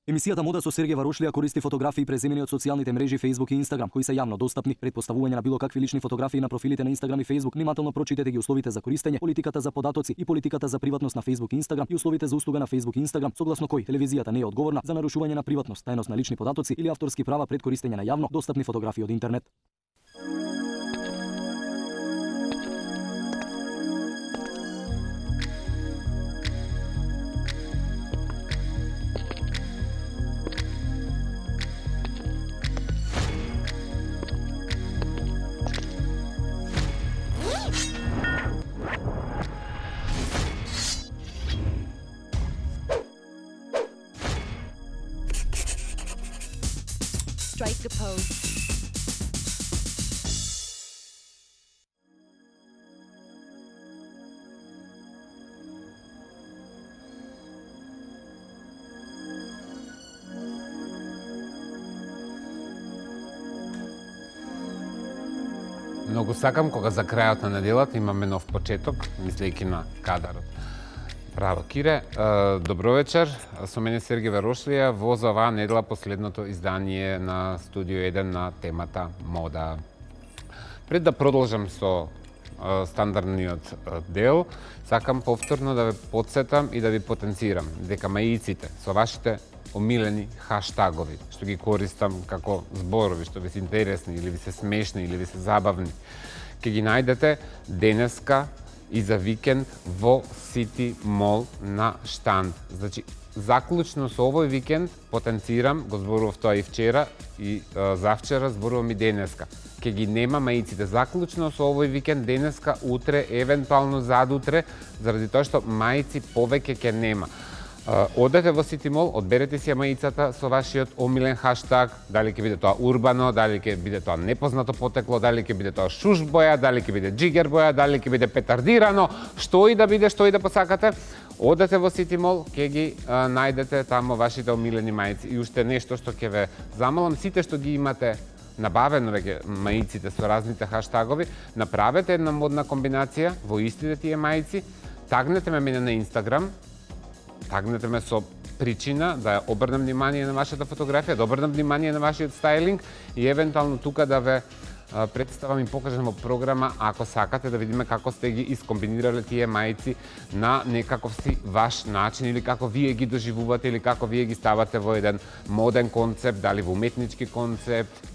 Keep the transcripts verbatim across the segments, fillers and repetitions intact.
Емисијата Мода со Сергеј Варошлија користи фотографии преземени од социјалните мрежи Facebook и Instagram, кои се јавно достапни. Пред поставување на било какви лични фотографии на профилите на Instagram и Facebook, внимателно прочитете ги условите за користење, политиката за податоци и политиката за приватност на Facebook и Instagram и условите за услуга на Facebook и Instagram, согласно кои телевизијата не е одговорна за нарушување на приватност, тајност на лични податоци или авторски права пред користење на јавно достапни фотографии од интернет. Strike a pose. Многу сакам кога за крајот на неделата имаме нов почеток, мислејќи на кадарот. Браво, Кире. Добро вечер. Со мене Сергеј Варошлија во за оваа недела последното издание на Студио еден на темата мода. Пред да продолжам со стандардниот дел, сакам повторно да ве потсетам и да ви потенцирам дека маиците со вашите омилени хаштагови, што ги користам како зборови, што ви се интересни, или ви се смешни, или ви се забавни, ќе ги најдете денеска и за викенд во Сити Мол на штанд. Значи, заклучно со овој викенд потенцирам, го зборував тоа и вчера и а, завчера, зборувам и денеска. Ке ги нема маиците заклучно со овој викенд, денеска, утре, евентуално задутре, заради тоа што маици повеќе ке нема. Одете во Сити Мол, одберете си маицата со вашиот омилен хаштаг, дали ќе биде тоа урбано, дали ќе биде тоа непознато потекло, дали ќе биде тоа шуш боја, дали ќе биде джигер боја, дали ќе биде петардирано, што и да биде, што и да посакате. Одете во Сити Мол, ќе ги а, најдете тамо вашите омилени маици. И уште нешто што ќе ве замолам, сите што ги имате набавено веќе маиците со разните хаштагови, направете една модна комбинација во истите тие маици, тагнете ме мене на Инстаграм, тагнете ме со причина да ја обрнем внимание на вашата фотографија, да обрнем внимание на вашиот стајлинг и евентуално тука да ве а, представам и покажам во програма, ако сакате да видиме како сте ги искомбинирале тие маици на некаков си ваш начин или како вие ги доживувате или како вие ги ставате во еден моден концепт, дали во уметнички концепт.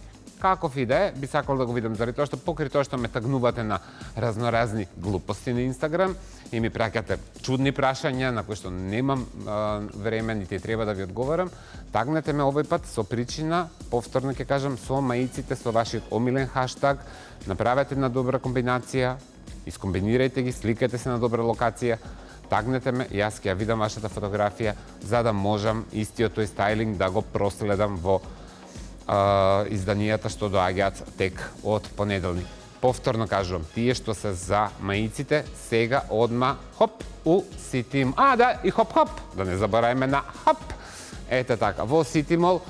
Каков и да е, би сакал да го видам, заради тоа што покри тоа што ме тагнувате на разноразни глупости на Инстаграм и ми праќате чудни прашања на кои што немам а, време, нити треба да ви одговарам, тагнете ме овој пат со причина, повторно ќе кажам, со маиците, со вашиот омилен хаштаг, направете една добра комбинација, искомбинирајте ги, сликате се на добра локација, тагнете ме, јас ќе ја видам вашата фотографија, за да можам истиот тој стајлинг да го проследам во Uh, изданијата што доаѓаат тек од понеделник. Повторно кажувам, тие што се за маиците, сега одма хоп у Сити Мол. А, да, и хоп-хоп, да не заборајме на хоп. Ете така, во Сити Мол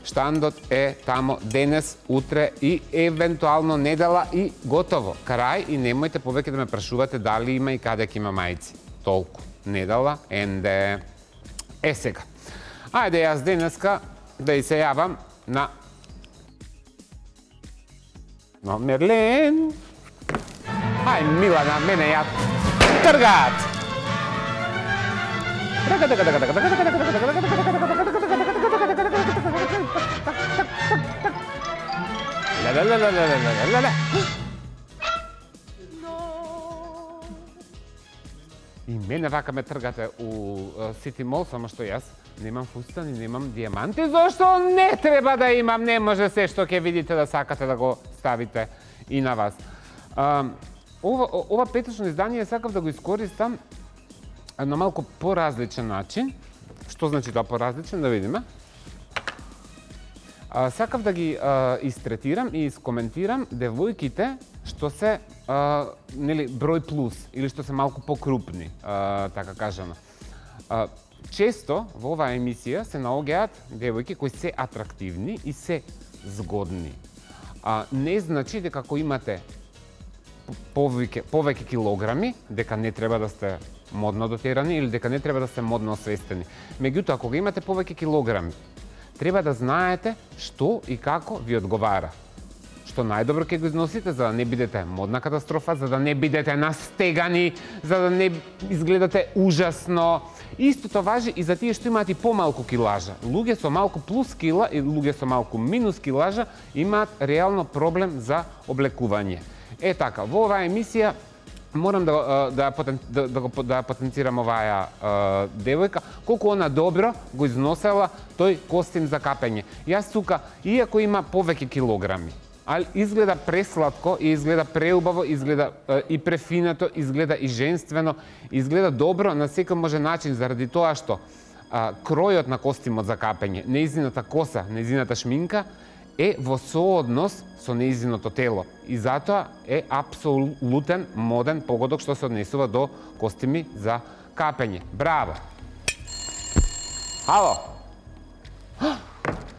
штандот е тамо денес, утре и евентуално недела и готово. Крај и немојте повеќе да ме прашувате дали има и каде ќе има маици. Толку. Недела, енде. Е сега. Ајде јас денеска да и се јавам на Но, Мерлен! Ај, Милана, мене ја тргат! И мене вака ме тргате у Сити Мол, само што јас немам фустан и немам дијаманти, зашто не треба да имам, не може се што ќе видите да сакате да го ставите и на вас. А, ова, ова петочно издание сакав да го искористам на малку поразличен начин. Што значи тоа поразличен, да видиме. А, сакав да ги а, истретирам и искоментирам девојките што се а, нели, број плюс или што се малку покрупни, а, така кажано. А, Често во оваа емисија се наоѓаат девојки кои се атрактивни и се згодни. А, не значи дека ако имате повеќе повеќе килограми, дека не треба да сте модно дотерани или дека не треба да сте модно освестени. Меѓутоа, кога имате повеќе килограми, треба да знаете што и како ви одговара. Што најдобро ќе го износите за да не бидете модна катастрофа, за да не бидете настегани, за да не изгледате ужасно. Истото важи и за тие што имаат и помалку килажа. Луѓе со малку плюс кила и луѓе со малку минус килажа имаат реално проблем за облекување. Е така, во оваа емисија морам да да да да, да, да потенцирам оваа девојка, колку она добро го износела тој костим за капење. Јас тука, иако има повеќе килограми, ali izgleda preslatko i izgleda preubavo, izgleda e, i prefinato, izgleda i ženствено, izgleda dobro na секој може начин заради тоа што а, кројот на костимот за капење, неизината коса, неизината шминка е во сооднос со неизиното тело и затоа е апсолутен моден погодок што се однесува до костими за капење. Браво! Ало!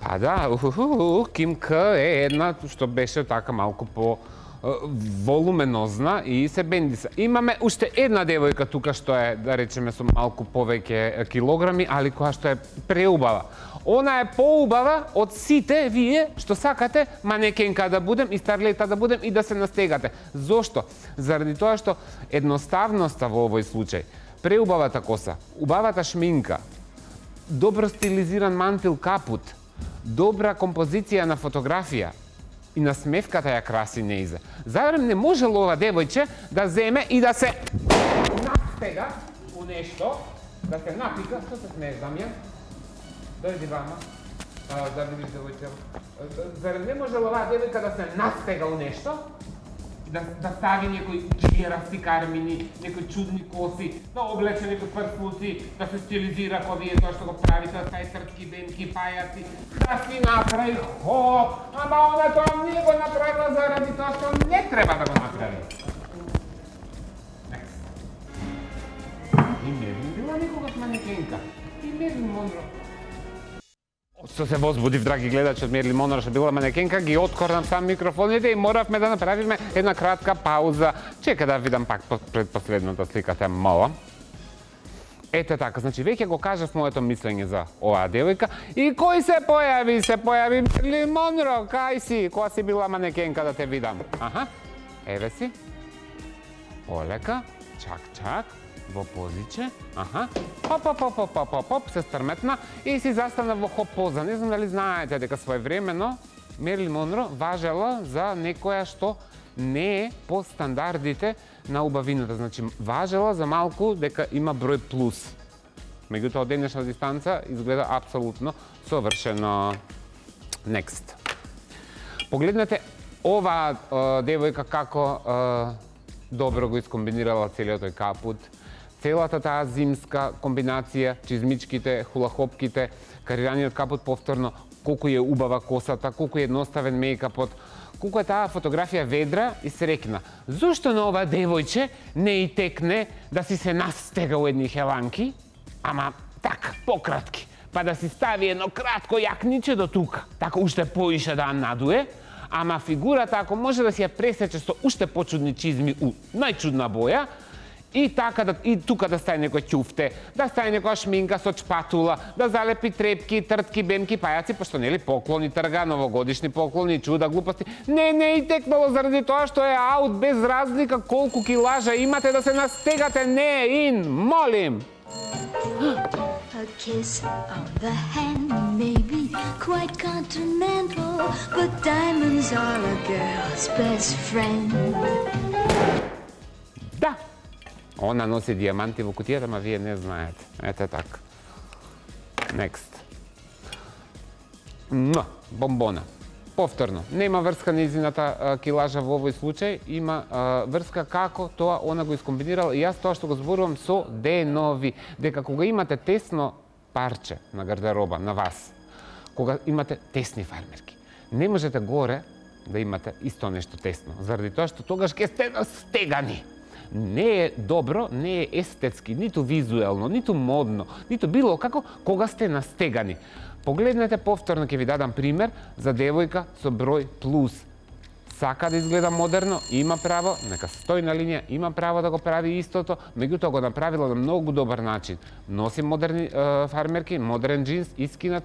Па да, уху, Ким К е една што беше така малку по волуменозна и се бендиса. Имаме уште една девојка тука што е, да речеме, со малку повеќе килограми, али која што е преубава. Она е поубава од сите вие што сакате манекенка да будем и старлета да будем и да се настегате. Зошто? Заради тоа што едноставноста во овој случај, преубавата коса, убавата шминка, добро стилизиран мантил капут, добра композиција на фотографија и на смевката ја краси неизе. Зарем не можело ова девојче да земе и да се настега у нешто, да се напика, што се смееш, Дамјан? Дојди вама, а, да видиш девојче. Зарем не можело ова девојка да се настега у нешто, да, да стави некои џирасти кармини, некои чудни коси, да облече некои прслуци, да се стилизира ко вие тоа што го правите, да стави тртки, бенки, пајаци, да си направи хоп, ама она тоа не го направила заради тоа што не треба да го направи. И не би била никогаш манекенка. И не би Монро. Што се возбудив, драги гледачи, од Мерлин Монро што била манекенка, ги откорнам сам микрофоните и моравме да направиме една кратка пауза. Чека да видам пак пред последната слика, таа мала. Ете така, значи веќе го кажав моето мислење за оваа девојка и кој се појави? Се појави Мерлин Монро, кај си? Која си била манекенка да те видам? Аха, еве си. Полека, чак, чак. Во позиче, аха, хоп, хоп, хоп, хоп, хоп, хоп, хоп, се стрметна и си застана во хоп поза. Не знам дали знаете дека своевремено Мерлин Монро важела за некоја што не е по стандардите на убавината. Значи, важела за малку дека има број плюс. Меѓутоа, од денешна дистанца изгледа апсолутно совршено. Next. Погледнете ова девојка како добро го искомбинирала целиот тој капут. Целата таа зимска комбинација, чизмичките, хулахопките, карираниот капут повторно, колку е убава косата, колку е едноставен мејкапот, колку е таа фотографија ведра и срекна. Зошто на ова девојче не и текне да си се настега у едни хеланки, ама така, пократки, па да си стави едно кратко јакниче до тука, така уште поише да надуе, ама фигурата ако може да си ја пресече со уште почудни чизми у најчудна боја, и така да и тука да стаи некој ќуфте, да стаи некоја шминка со чпатула, да залепи трепки, тртки, бемки, пајаци, пошто нели поклони трга, новогодишни поклони, чуда, глупости. Не, не и текнало заради тоа што е аут без разлика колку килажа имате да се настегате, не ин, молим. A kiss on the hand may be quite continental, but diamonds are a girl's best friend. Да. Она носи диаманти во кутијата, ама вие не знаете. Ете така. Next. Муа, бомбона. Повторно, нема врска нејзината килажа во овој случај, има а, врска како тоа она го искомбинирала и јас тоа што го зборувам со денови, дека кога имате тесно парче на гардероба на вас, кога имате тесни фармерки, не можете горе да имате исто нешто тесно, заради тоа што тогаш ќе сте настегани. Не е добро, не е естетски, ниту визуелно, ниту модно, ниту било како кога сте настегани. Погледнете повторно, ќе ви дадам пример за девојка со број плюс. сака да изгледа модерно, има право, нека стои на линија, има право да го прави истото, меѓутоа го направила на многу добар начин. Носи модерни е, фармерки, модерен джинс, искинат.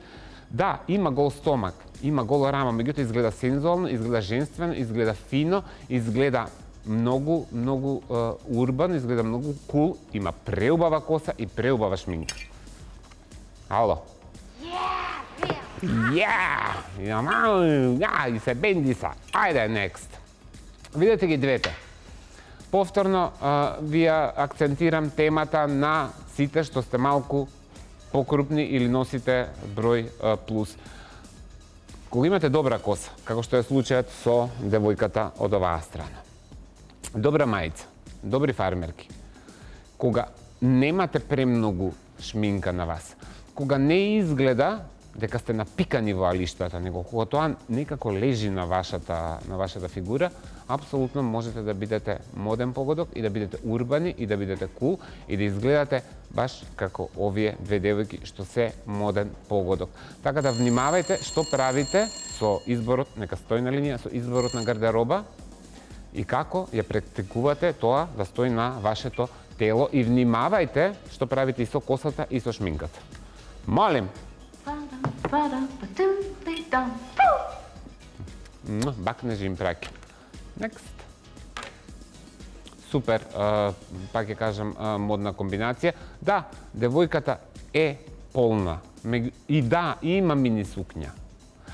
Да, има гол стомак, има гола рама, меѓутоа изгледа сензуално, изгледа женствено, изгледа фино, изгледа многу, многу е, урбан, изгледа многу кул, има преубава коса и преубава шминка. Ало? Yeah! Ja, и се бенди са. Ајде, next. Видете ги двете. Повторно, а, вија акцентирам темата на сите што сте малку покрупни или носите број а, плюс. Кога имате добра коса, како што е случајот со девојката од оваа страна. Добра мајца, добри фармерки. Кога немате премногу шминка на вас, кога не изгледа дека сте напикани во алиштата, него кога тоа некако лежи на вашата, на вашата фигура, апсолутно можете да бидете моден погодок и да бидете урбани и да бидете кул и да изгледате баш како овие две девојки што се моден погодок. Така да внимавајте што правите со изборот, нека стои на линија, со изборот на гардероба и како ја практикувате тоа да стои на вашето тело и внимавајте што правите и со косата и со шминката. Молим! Бакне жим праки. Next. Супер, пак ќе кажам, модна комбинација. Да, девојката е полна. И да, има мини сукња.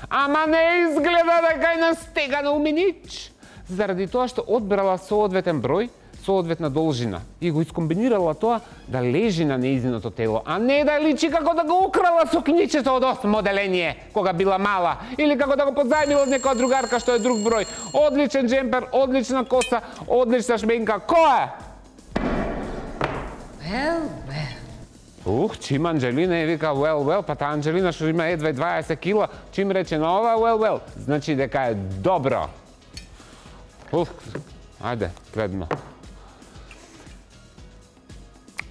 Ама не изгледа дека е настегана у минич. Заради тоа што одбрала соодветен број, соодветна должина и го искомбинирала тоа да лежи на нејзиното тело, а не да личи како да го украла сукњичето од осмо оделение кога била мала или како да го позајмила од некоја другарка што е друг број. Одличен джемпер, одлична коса, одлична шменка. Кој е? Well, well. Ух, чим Анджелина е вика well, well, па таа Анджелина што има едва дваесет кила, чим рече на ова well, well, значи дека е добро. Ух, ајде, следно.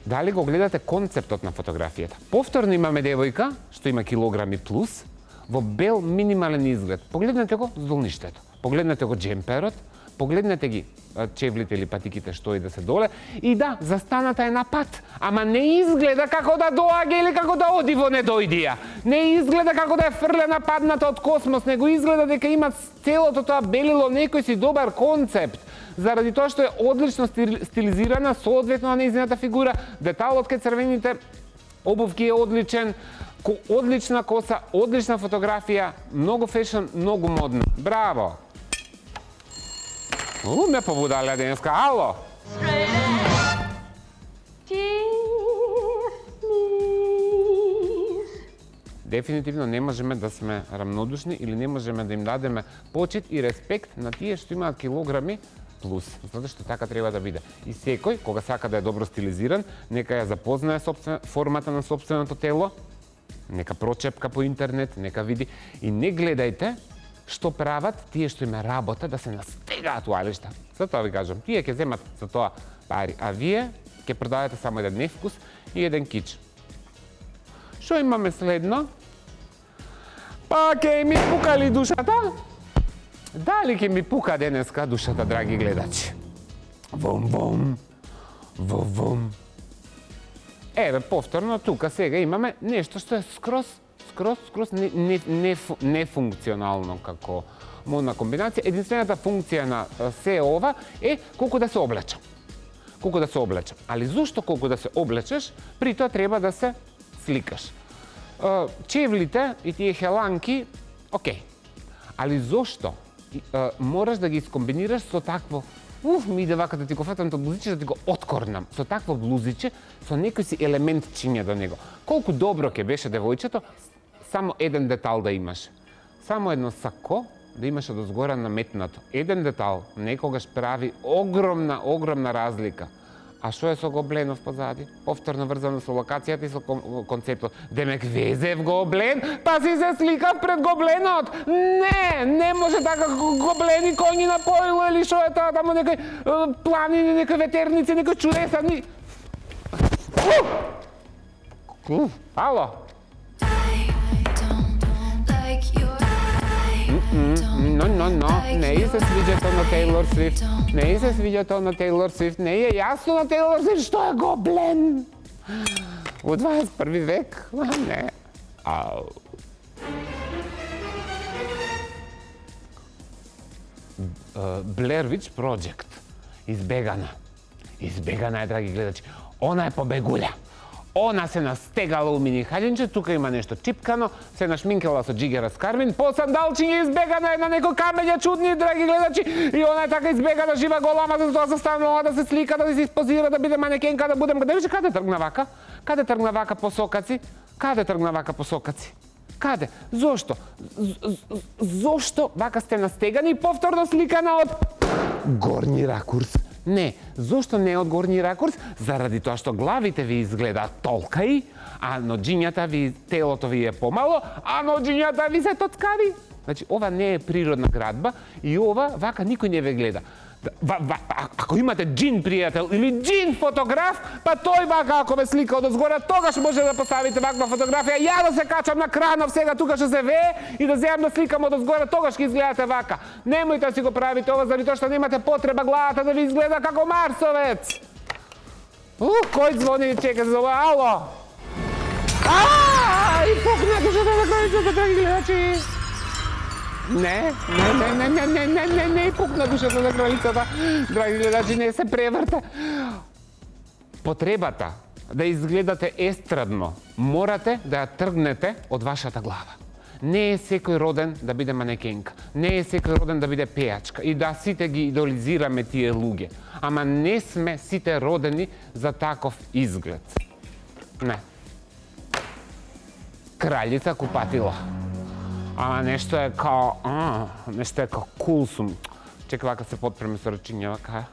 Дали го гледате концептот на фотографијата? Повторно имаме девојка, што има килограми плюс, во бел минимален изглед. Погледнете го здолништето, погледнете го джемперот, погледнете ги чевлите или патиките што и да се доле. И да, застаната е на пат, ама не изгледа како да доаѓа или како да оди во недојдија. Не изгледа како да е фрлена падната од космос, него изгледа дека има целото тоа белило некој си добар концепт. Заради тоа што е одлично стилизирана, соодветно на нејзината фигура, деталот кај црвените обувки е одличен, одлична коса, одлична фотографија, многу фешн, многу модна. Браво! У, ме побудале денеска. Ало! Дефинитивно не можеме да сме рамнодушни или не можеме да им дадеме почит и респект на тие што имаат килограми плюс, затоа што така треба да биде. И секој, кога сака да е добро стилизиран, нека ја запознае собствен, формата на собственото тело, нека прочепка по интернет, нека види и не гледајте што прават тие што име работа да се настегаат у алишта. Затоа ви кажам, тие ќе земат за тоа пари, а вие ќе продавате само еден невкус и еден кич. Што имаме следно? Па ќе ми пука ли душата? Дали ќе ми пука денеска душата, драги гледачи? Вум-вум, вум-вум. Еве, повторно, тука сега имаме нешто што е скроз, скроз, скроз нефункционално како модна комбинација. Единствената функција на се ова е колку да се облечам. Колку да се облечам. Али зошто колку да се облечеш, при тоа треба да се сликаш. Чевлите и тие хеланки, окей. Али зошто мораш да ги искомбинираш со такво, уф, ми иде вака да ти го фатам тоа блузиче, да ти го откорнам, со такво блузиче, со некој си елемент чинја до него. Колку добро ќе беше девојчето, само еден детал да имаш. Само едно сако да имаш одозгора наметнато. Еден детал некогаш прави огромна, огромна разлика. А што е со гобленов позади? Повторно врзано со локацијата и со концептот. Демек везев гоблен, па си се сликав пред гобленот. Не, не може така гоблени коњи на поило или што е тоа тамо некој планини, некој ветерници, некој чудеса. Ни... Ало? I don't like your... No, no, no, не ѝ се свиѓа тоа на Тейлор Свифт. Не ѝ се свиѓа тоа на Тейлор Свифт. Не е јасно на Тейлор Свифт што е гоблен. У дваесет и први век, не. Ау. Blair Witch Project. Избегана. Избегана е, драги гледачи. Она е побегуља. Она се настегала у мини хаѓенче, тука има нешто чипкано, се нашминкала со джигера скармин, по сандалчиња избегана е на некој камења чудни, драги гледачи, и она е така избегана, жива голама, за тоа застанала да се слика, да се испозира, да биде манекенка, да будем... Да више, каде тргна вака? Каде тргна вака по сокаци? Каде тргна вака по сокаци? Каде? Зошто? Зошто вака сте настегани и повторно сликана од горни ракурс? Не, зошто не од горни ракурс? Заради тоа што главите ви изгледаат толкаи, а ноџињата ви, телото ви е помало, а ноџињата ви се тоцкави. Значи, ова не е природна градба и ова вака никој не ве гледа. Ва, ва, ако имате джин пријател или джин фотограф, па тој вака ако ве слика од озгора, тогаш може да поставите ваква фотографија. Ја да се качам на кранов сега тука што се вее и да земам да сликам од озгора, тогаш ќе изгледате вака. Немојте да си го правите ова заради тоа што немате потреба главата да ви изгледа како марсовец. Ух, кој звони и чека за ова? Ало! Ааа, и пукна душата на крајцата, драги гледачи. Не, не, не, не, не, не, не, не, пукна душата на кралицата. Драги гледачи, не се преврте. Потребата да изгледате естрадно, морате да ја тргнете од вашата глава. Не е секој роден да биде манекенка. Не е секој роден да биде пејачка. И да, сите ги идолизираме тие луѓе. Ама не сме сите родени за таков изглед. Не. Кралица купатила. Ама нешто е као, а, нешто е као кул сум. Чека вака се подпреме со рачиња, вака.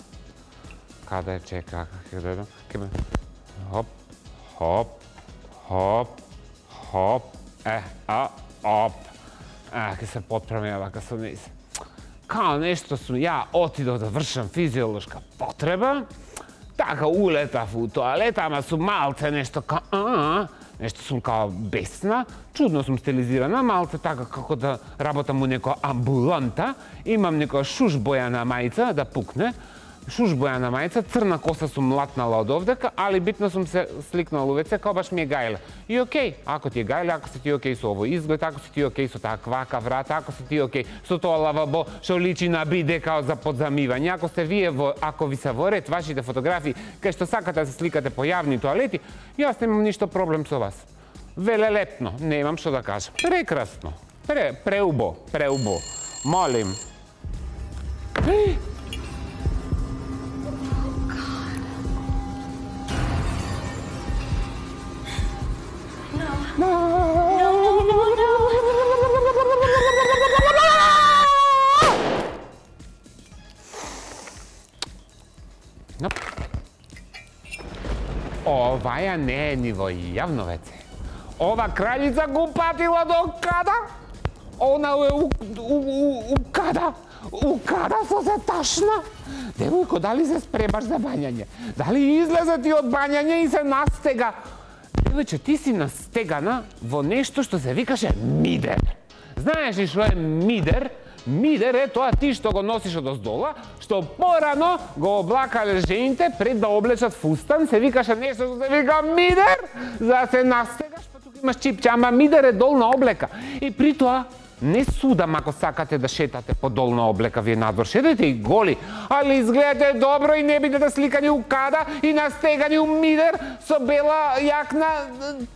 Каде е, чека, вака, ке да едам. Ке ме, хоп, хоп, хоп, хоп, е, а, оп. Е, ке се подпреме вака со низ. Као нешто сум, ја отидов да вршам физиолошка потреба, така улетав у тоалета, ама сум малце нешто као, а, нешто сум као бесна, чудно сум стилизирана, малце така како да работам у некоја амбуланта, имам некоја шушбојана мајца да пукне, шушбојана мајца, црна коса сум латнала од овдека, али битно сум се сликнала увеце, као баш ми е гајле. И окей, ако ти е гајле, ако си ти окей со овој изглед, ако си ти окей со таа квака врата, ако си ти окей со тоа лавабо што личи на биде као за подзамивање, ако сте вие во, ако ви се во ред вашите фотографии, кај што сакате да се сликате по јавни тоалети, јас немам ништо проблем со вас. Велелепно, немам што да кажам. Прекрасно. Пре, преубо, преубо. Молим. No, no, no, no. No. Ова ја не е ни во јавно веце. Ова краљица го патила до када? Она е у, у, у, у када? У када со се ташна? Девојко, дали се спремаш за бањање? Дали излезе ти од бањање и се настега? Девојче, ти си настегана во нешто што се викаше мидер. Знаеш ли што е мидер? Мидер е тоа ти што го носиш од оздола, што порано го облакале жените пред да облечат фустан, се викаше нешто што се вика мидер, за да се настегаш, па тука имаш чипче, ама мидер е долна облека. И при тоа, не судам ако сакате да шетате по долна облека вие надвор, шетете и голи, али изгледате добро и не бидете сликани у када и настегани у мидер со бела јакна,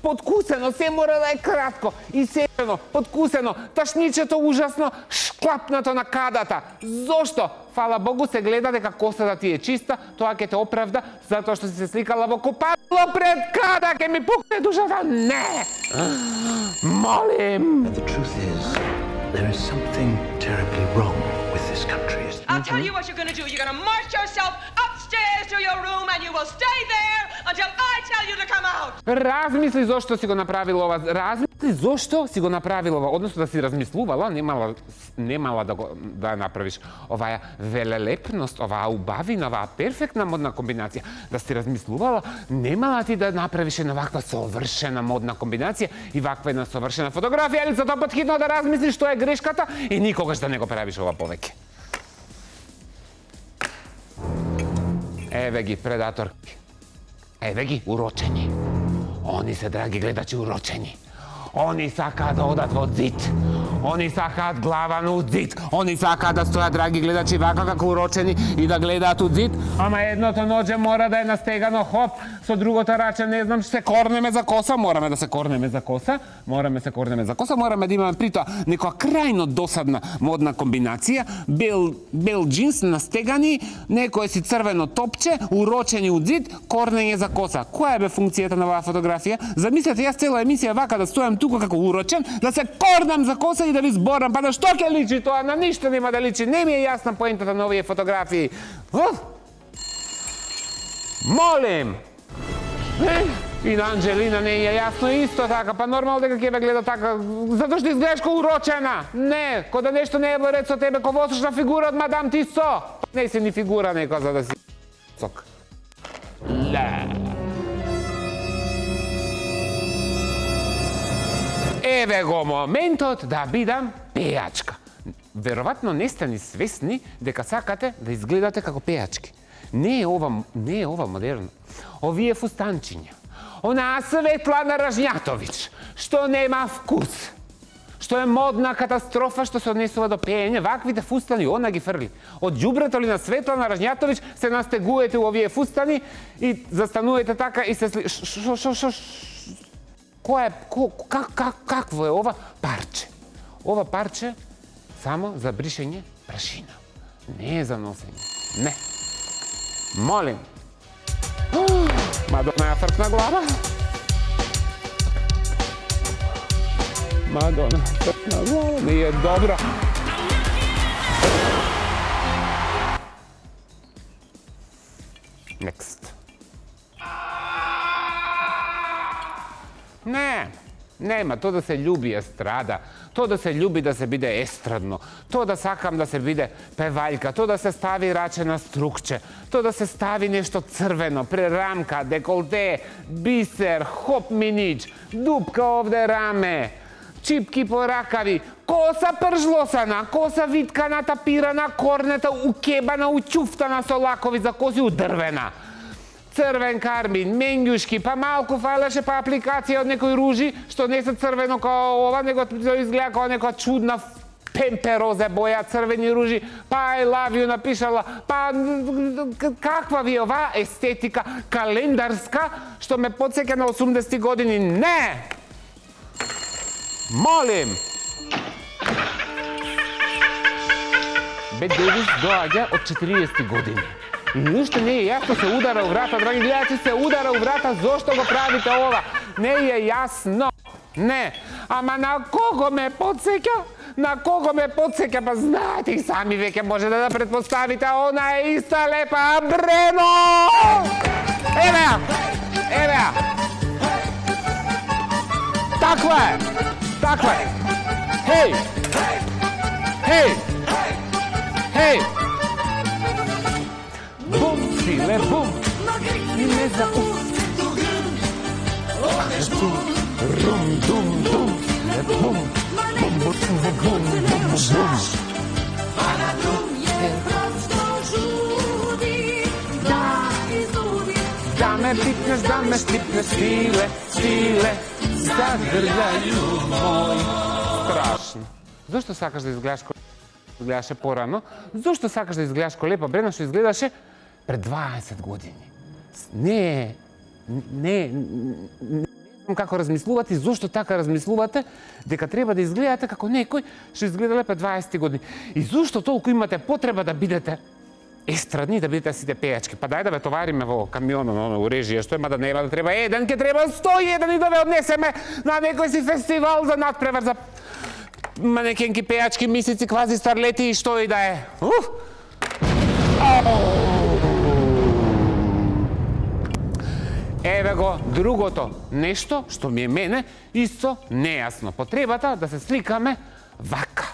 подкусено, се мора да е кратко, исечено, подкусено, ташничето ужасно, шклапнато на кадата. Зошто? Фала Богу се гледа дека косата ти е чиста, тоа ќе те оправда затоа што си се сликала во купатило пред када, ќе ми пукне душата. Не! Молим! The truth is, there is something terribly wrong with this country. I'll tell you what you're gonna do. You're gonna march yourself upstairs to your room and you will stay there until I tell you to come out. Размисли зошто си го направил ова. Размисли Ти зошто си го направила, односно да си размислувала, немала, немала да, го, да направиш оваа велелепност, оваа убавина, оваа перфектна модна комбинација, да си размислувала, немала ти да направиш една ваква совршена модна комбинација и ваква една совршена фотографија, или за тоа пат хитно да размислиш што е грешката и никогаш да не го правиш ова повеќе. Еве ги предаторки. Еве ги урочени. Они се, драги гледачи, урочени. Они сакаат да одат во зид. Они сакаат глава на зид. Они сакаат да стојат, драги гледачи, вака како урочени и да гледаат од зид. Ама едното ноđе мора да е настегано хоп, со другото раче не знам, се корнеме за коса, мораме да се корнеме за коса, мораме се корнеме за коса, мораме да имаме притоа некоја крајно досадна модна комбинација, бел бел джинс настегани, некој си црвено топче, урочени од зид, корнење за коса. Која е бе функцијата на оваа фотографија? Замислете, јас цела емисија вака да стојам тука како урочен, да се корнам за коса и да ви зборам, па да што ќе личи тоа, на ништо нема да личи, не ми е јасна поентата на овие фотографии. Уф! Молим! Не? И на Анджелина не е јасно исто така, па нормално дека ќе ве гледа така, затоа што изгледаш ко урочена. Не, ко да нешто не е во ред со тебе, ко восочна фигура од мадам Тисо. Не си ни фигура нека за да си сок. Ле. Еве го моментот да бидам пејачка. Веројатно не сте ни свесни дека сакате да изгледате како пејачки. Не е ова, не е ова модерно. Овие фустанчиња. Онаа Светлана Ражњатовиќ, што нема вкус, што е модна катастрофа, што се однесува до пеење, ваквите фустани она ги фрли. Од ѓубрето ли на Светлана Ражњатовиќ се настегуете у овие фустани и застанувате така и се сли... Шо, шо, шо, кој е, как, как, какво е ова парче? Ова парче само за бришење прашина. Не е за носење. Не. Молим. Мадона ја фркна глава. Мадона фркна глава. Не е добро. Next. Не, нема, тоа да се љуби естрада, тоа да се љуби да се биде естрадно, тоа да сакам да се биде певајка, тоа да се стави раче на струкче, тоа да се стави нешто црвено, прерамка, деколте, бисер, хоп минич, дупка овде раме, чипки по ракави, коса пржлосана, коса виткана, тапирана, корнета, укебана, учуфтана со лакови за коси, удрвена. Црвен кармин, менѓушки, па малку фалеше па апликација од некои ружи, што не се црвено као ова, него изгледа као некоја чудна пемперозе боја, црвени ружи, па I love you напишала, па каква ви е ова естетика календарска, што ме потсеќа на осумдесетти години. Не! Молим! Бет Девис доаѓа од четириесетти години. И ништо не е јасно, се удара у врата, драги гледачи, се удара у врата, зошто го правите ова? Не е јасно. Не. Ама на кого ме потсеќа? На кого ме потсеќа? Па знаете и сами веќе може да да предпоставите, она е иста лепа Брено! Еве ја! Еве ја! Таква е! Таква е! Хеј! Хеј! Хеј! Бум, силе, бум! И не за уф! Рум, дум, дум! Бум! Бум, бум, бум, бум, бум! Да ме пипнеш, да ме стипнеш, силе, силе, задргају мој. Страшно. Зошто сакаш да изгледаш ко изгледаше порано? Зошто сакаш да изгледаш ко лепа Брена што изгледаше пред дваесет години? Не, не, не знам како размислувате и зошто така размислувате дека треба да изгледате како некој што изгледале пред дваесет години. И зошто толку имате потреба да бидете естрадни, да бидете сите пејачки? Па дај да ве товариме во камионот, у режија, што е, мада нема да треба еден, ке треба сто и еден и да ве однесеме на некој си фестивал за надпревар за манекенки, пејачки, мисици, квази старлети и што и да е. Уф! Еве го другото нешто што ми е мене исто нејасно. Потребата да се сликаме вака.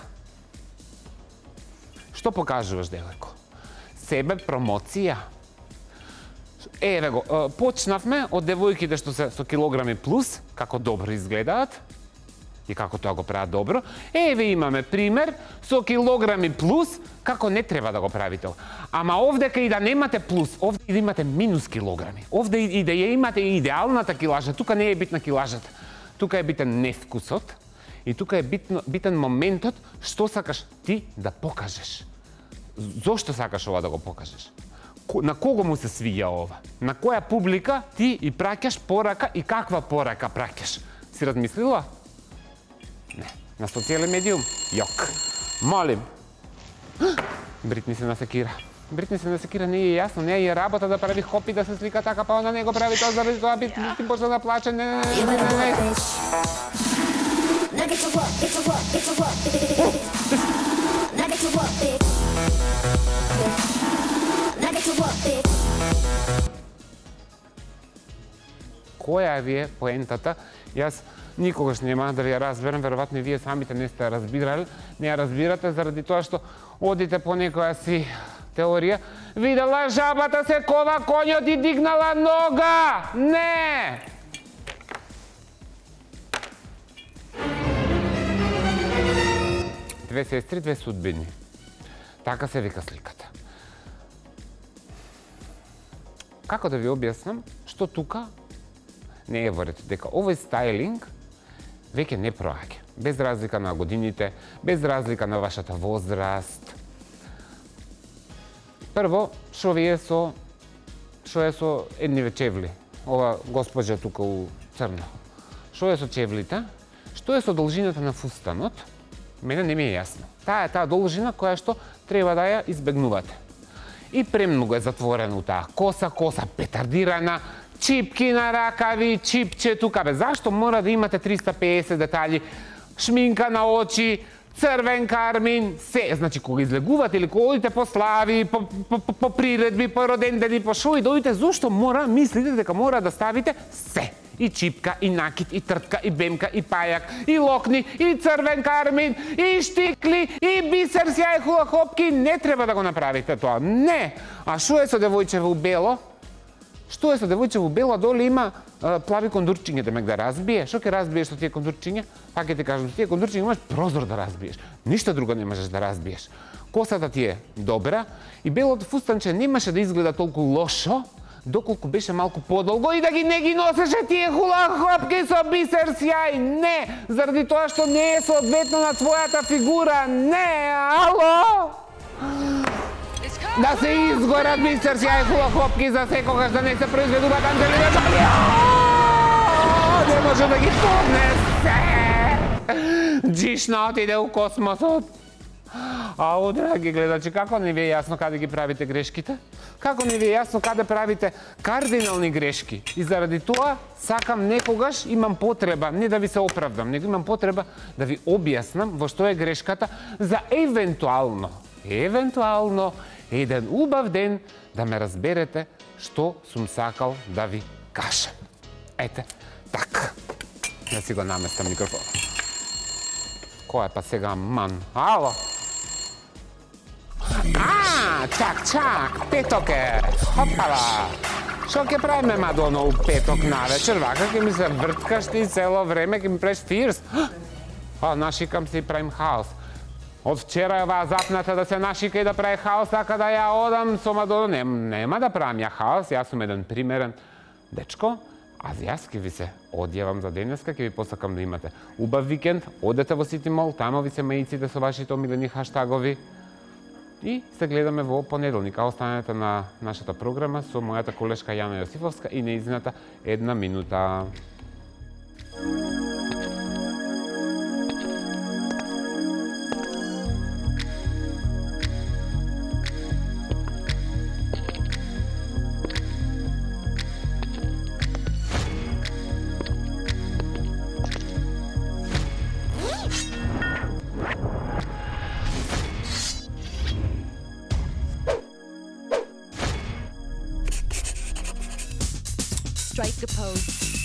Што покажуваш, девојко? Себе промоција. Еве го, почнавме од девојките што се со килограми плюс, како добро изгледаат и како тоа го прават добро. Еве имаме пример со килограми плюс, како не треба да го правите. Ама овдека и да немате плюс, овде и да имате минус килограми. Овде и да ја имате идеалната килажа, тука не е битна килажата. Тука е битен невкусот и тука е битно, битен моментот што сакаш ти да покажеш. Зошто сакаш ова да го покажеш? На кого му се свиѓа ова? На која публика ти и праќаш порака и каква порака праќаш? Си размислила? Не. На социјален медиум? Јок. Молим. Бритни се насекира. Бритни се насекира, не е јасно, не е работа да прави хопи да се слика така, па она не го прави тоа, заради тоа би ти почна да плаче. Не, не, не, не, не. Која ви е поентата? Јас никогаш нема да ви ја разберам, веројатно и вие самите не сте ја разбирали, не ја разбирате заради тоа што одите по некоја си теорија. Видела жабата се кова коњот и дигнала нога! Не! Две сестри, две судбини. Така се вика сликата. Како да ви објаснам што тука не е во ред, дека овој стајлинг веќе не проаѓа. Без разлика на годините, без разлика на вашата возраст. Прво, шо ви е со шо е со едниве чевли? Ова госпоѓа тука у црно. Шо е со чевлите? Што е со должината на фустанот? Мене не ми е јасно. Таа е таа должина која што треба да ја избегнувате. И премногу е затворено таа коса, коса петардирана, чипки на ракави, чипче тука. Бе, зашто мора да имате триста пеесет детали? Шминка на очи, црвен кармин, се. Значи, кога излегувате или кога одите по слави, по, по, по, по приредби, по родендени, по шо и дојдете, зашто мора, мислите дека мора да ставите се. И чипка, и накид, и тртка, и бемка, и пајак, и локни, и црвен кармин, и штикли, и бисер, сјај, хула хопки. Не треба да го направите тоа. Не. А шо е со девојчево бело? Што е со девојчево бело, доле има а, плави кондурчиња, демек да разбие. Што ќе разбиеш со тие кондурчиња? Пак ќе ти кажам, со тие кондурчиња имаш прозор да разбиеш. Ништо друго не можеш да разбиеш. Косата ти е добра и белото фустанче немаше да изгледа толку лошо, доколку беше малку подолго и да ги не ги носеше тие хула хопки со бисер сјај. Не, заради тоа што не е соодветно на твојата фигура. Не, ало! Да се изгорат бисер сјај хула хопки за секогаш да не се произведуваат Анџелина Джоли. Не може да ги поднесе. Джишна отиде у космосот. Ау, драги гледачи, како не ви е јасно каде ги правите грешките? Како не ви е јасно каде правите кардинални грешки? И заради тоа сакам некогаш, имам потреба, не да ви се оправдам, него имам потреба да ви објаснам во што е грешката за евентуално, евентуално, еден убав ден да ме разберете што сум сакал да ви кажам. Ете, така. Да си го наместам микрофон. Кој е па сега ман? Ало? А, чак, чак, петок е. Хопала. Шо ќе правиме, Мадоно, у петок навечер? Вака ќе ми се врткаш ти цело време, ќе ми правиш фирс. А, нашикам се и правим хаос. Од вчера е оваа запната да се нашика и да прави хаос, така да ја одам со Мадоно. Не, нема да правам ја хаос, јас сум еден примерен дечко. А јас ќе ви се одјавам за денеска, ќе ви посакам да имате убав викенд, одете во Сити Мол, тамо ви се маиците со вашите омилени хаштагови. И се гледаме во понеделник, а останете на нашата програма со мојата колешка Јана Јосифовска и неизината една минута. strike a pose.